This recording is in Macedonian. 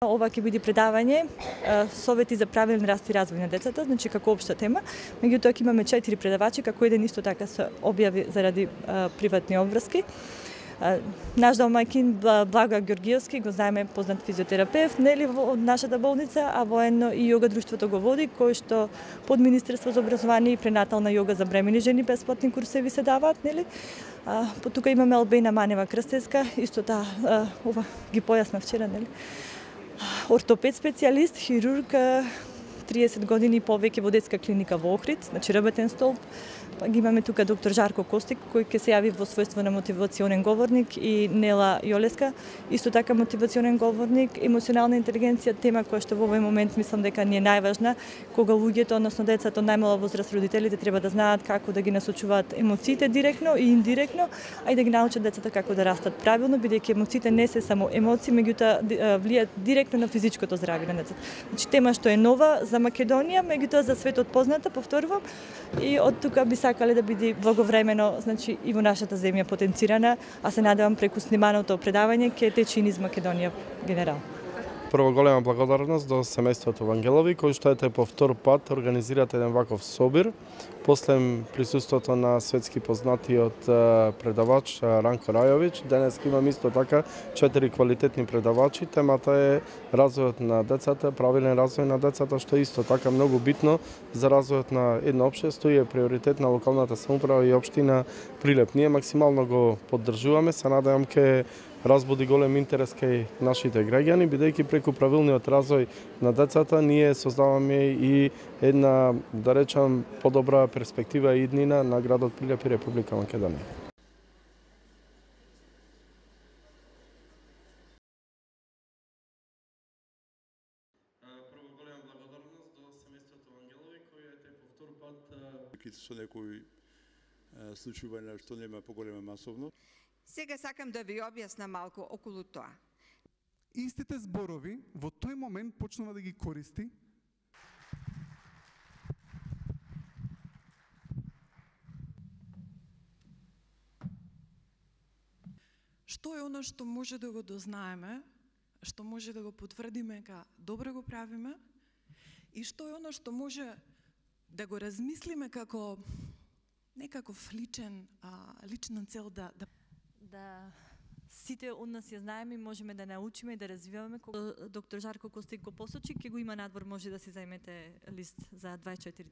Ова ќе биде предавање совети за правилен раст и развој на децата, значи како општа тема. Меѓутоа ќе имаме 4 предавачи, како еден исто така се објави заради приватни обврски. Наш домаќин Благоја Ѓоргиевски, го знаеме, познат физиотерапевт, нели од нашата болница, а воено и јога друштвото го води, кој што под Министерство за образование и пренатална јога за бремени жени бесплатни курсеви се даваат, нели? Тука имаме Албена Манева Крстевска, исто таа ова ги појасна вчера, нели? Ортопед специјалист, хирург, 30 години и повеќе во детска клиника во Охрид, значи работен столб. Па ги имаме тука доктор Жарко Костик, кој ќе се јави во својство на мотивационен говорник, и Нела Јолеска, исто така мотивационен говорник, емоционална интелигенција, тема која што во овој момент мислам дека ни е најважна, кога луѓето, односно децата од најмала возраст, родителите треба да знаат како да ги насочуваат емоциите директно и индиректно, а и да ги научат децата како да растат правилно, бидејќи емоциите не се само емоции, меѓутоа влијаат директно на физичкото здравје на децата. Значи тема што е нова за Македонија, меѓутоа за светот позната, повторувам, и од тука би сакале да биде благовремено, значи и во нашата земја потенцирана, а се надевам преку сниманото предавање ќе тече и низ Македонија генерал. Прво голема благодарност до семејството Вангелови, кој што ете по втор пат организират еден ваков собир, после присуството на светски познатиот предавач Ранко Рајович. Денес имам исто така 4 квалитетни предавачи. Темата е развојот на децата, правилен развој на децата, што е исто така многу битно за развојот на едно општество и е приоритет на локалната самоуправа и општина Прилеп. Ние максимално го поддржуваме, се надевам ке разбуди голем интерес кај нашите граѓани, бидејќи преку правилниот развој на децата ние создаваме и една, да речам, подобра перспектива и иднина на градот Прилеп и Република Македонија. Прво голема благодарност до семејството Вангелови, кој ете по втор пат со некои случувања што нема поголема масовно. Сега сакам да ви објаснам малку околу тоа. Истите зборови во тој момент почнува да ги користи Што е оно што може да го дознаеме, што може да го потврдиме ка добро го правиме, и што е оно што може да го размислиме како некаков лична цел да Сите од нас ја знаеме и можеме да научиме и да развиваме. Кога доктор Жарко Костик го посочи, ќе го има надвор, може да си заемете лист за 24